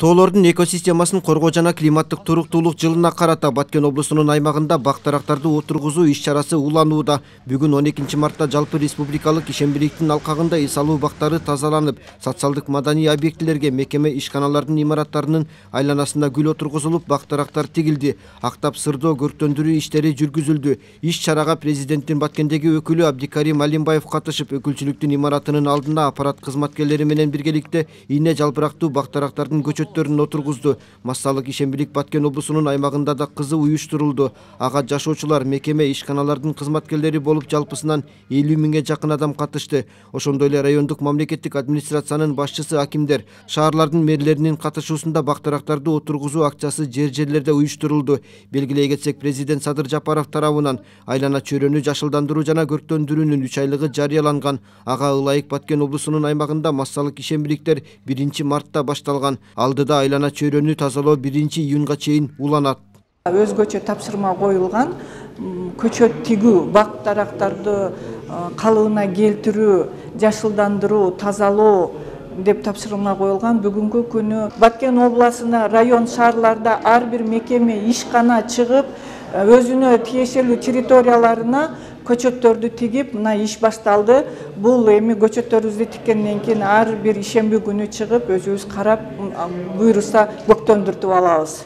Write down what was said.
Тоолордун экосистемасын коргоо жана климаттык туруктуулук жылына карата Баткен облусунун аймагында бак-дарактарды отургузуу иш-чарасы уланууда. Бүгүн 12 мартта жалпы республикалык ишембириктин алкагында эс алуу бактары тазаланып, социалдык маданий объектилерге мекеме ишканалардын имараттарынын айланасына гүл отургузулуп, бак-дарактар тигилди. Актап сырдоо көрктөндүрүү иштери жүргүзүлдү. Иш-чарага президенттин Баткендеги өкүлү Абдикарим Алимбаев катышып, өкүлчүлүктүн имаратынын алдына аппарат кызматкерлери менен биргеликте ийне жалбырактуу бак-дарактардын отургузду. Массалык ишембирик Баткен облусунун аймагында да кызуу уюштурулду. Ага жашоочулар, мекеме ишканалардын кызматкерлери болуп жалпысынан 50 миңге жакын адам катышты. Ошондой эле райондук мамлекеттик администрациянын башчысы, акимдер, шаарлардын мэрлеринин катышуусунда бак-дарактарды отургузуу акчасы жерлерде уюштурулду. Белгилей кетсек, президент Садыр Жапаров тарабынан айлана чөйрөнү жашылдандыруу жана көрктөндүрүүнүн 3 айлыгы жарыяланган. Ага ылайык Баткен облусунун аймагында массалык ишембириктер 1 мартта башталган. Алдыда айлана чөйрөнү тазалоо 1-июнга чейин уланат. Өзгөчө тапшырма коюлган көчөт тигүү, бак-дарактарды калыбына келтирүү, жашылдандыруу, тазалоо деп тапшырма коюлган. Бүгүнкү күнү Баткен обласына район шаарларда ар бир мекеме ишкана чыгып, өзүнө тиешелүү территорияларына көчөттөрдү тигип, мына иш башталды. Бул эми көчөттөрүбүздү тиккенден кийин ар бир ишемби күнү чыгып, өзүбүз карап, буйруса көктөндүртүп алабыз.